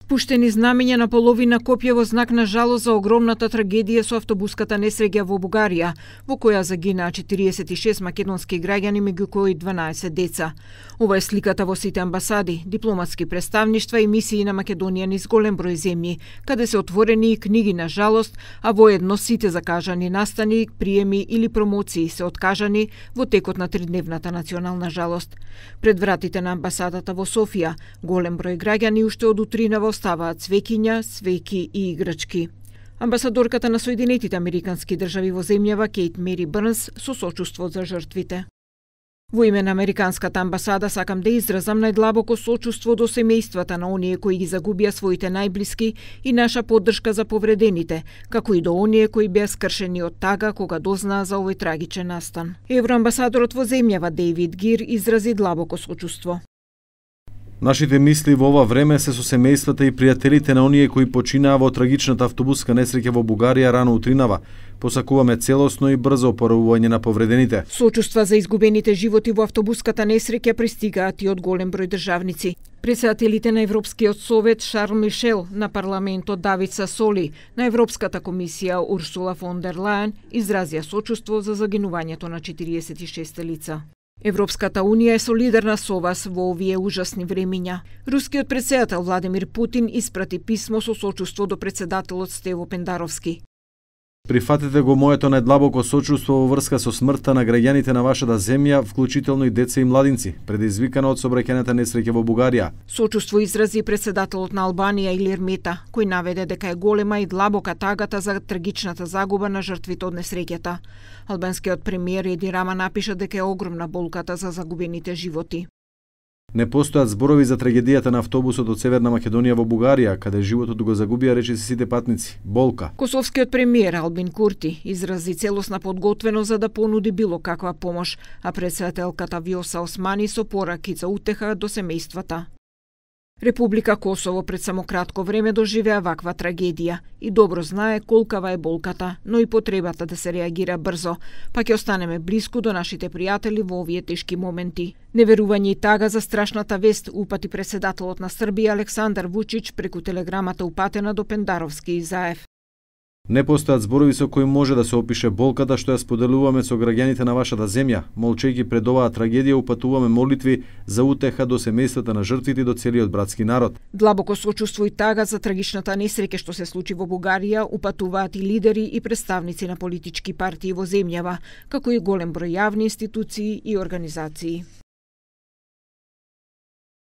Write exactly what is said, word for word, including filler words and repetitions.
Пуштени знамења на половина копија во знак на жалост за огромната трагедија со автобуската несреќа во Бугарија, во која загинаа четириесет и шест македонски граѓани, меѓу кои дванаесет деца. Ова е сликата во сите амбасади, дипломатски представништва и мисии на Македонија низ голем број земји, каде се отворени и книги на жалост, а воедно сите закажани настани, приеми или промоции се откажани во текот на тридневната национална жалост. Пред вратите на амбасадата во Софија, голем број граѓани уште од утринава оставаат цвеќиња, свеќи и играчки. Амбасадорката на Соединетите Американски држави во земјава Кейт Мери Брнс со сочувство за жртвите. Во име на Американската амбасада сакам да изразам најдлабоко сочувство до семејствата на оние кои ги загубија своите најблиски и наша поддршка за повредените, како и до оние кои беа скршени од тага кога дознаа за овој трагичен настан. Евроамбасадорот во земјава Дејвид Гир изрази длабоко сочувство. Нашите мисли во ова време се со семејствата и пријателите на оние кои починаа во трагичната автобуска несреќа во Бугарија рано утринава. Посакуваме целосно и брзо опоравување на повредените. Сочувства за изгубените животи во автобуската несреќа пристигаат и од голем број државници. Претседателите на Европскиот совет Шарл Мишел, на парламентот Давид Сасоли, на Европската комисија Урсула фон дер Лајен изразија сочувство за загинувањето на четириесет и шест лица. Европската унија е солидарна со вас во овие ужасни времиња. Рускиот претседател Владимир Путин испрати писмо со сочувство до претседателот Стево Пендаровски. Прифатете го моето најдлабоко сочувство во врска со смртта на граѓаните на вашата земја, вклучително и деца и младинци, предизвикано од сообраќајната несреќа во Бугарија. Сочувство изрази председателот на Албанија Илир Мета, кој наведе дека е голема и длабока тагата за трагичната загуба на жртвите од несреќата. Албанскиот премиер Еди Рама напиша дека е огромна болката за загубените животи. Не постојат зборови за трагедијата на автобусот од Северна Македонија во Бугарија, каде животот го загубија речиси сите патници. Болка. Косовскиот премиер Албин Курти изрази целосна подготвеност за да понуди било каква помош, а претседателката Вјоса Османи со пораки за утеха до семејствата. Република Косово пред само кратко време доживеа ваква трагедија и добро знае колкава е болката, но и потребата да се реагира брзо, па ќе останеме блиску до нашите пријатели во овие тешки моменти. Неверување и тага за страшната вест упати претседателот на Србија Александар Вучич преку телеграмата упатена до Пендаровски и Заев. Не постојат зборови со кои може да се опише болката што ја споделуваме со граѓаните на вашата земја. Молчејќи пред оваа трагедија упатуваме молитви за утеха до семејствата на жртвите и до целиот братски народ. Длабоко сочувство и тага за трагичната несреќа што се случи во Бугарија упатуваат и лидери и представници на политички партии во земјава, како и голем број јавни институции и организации.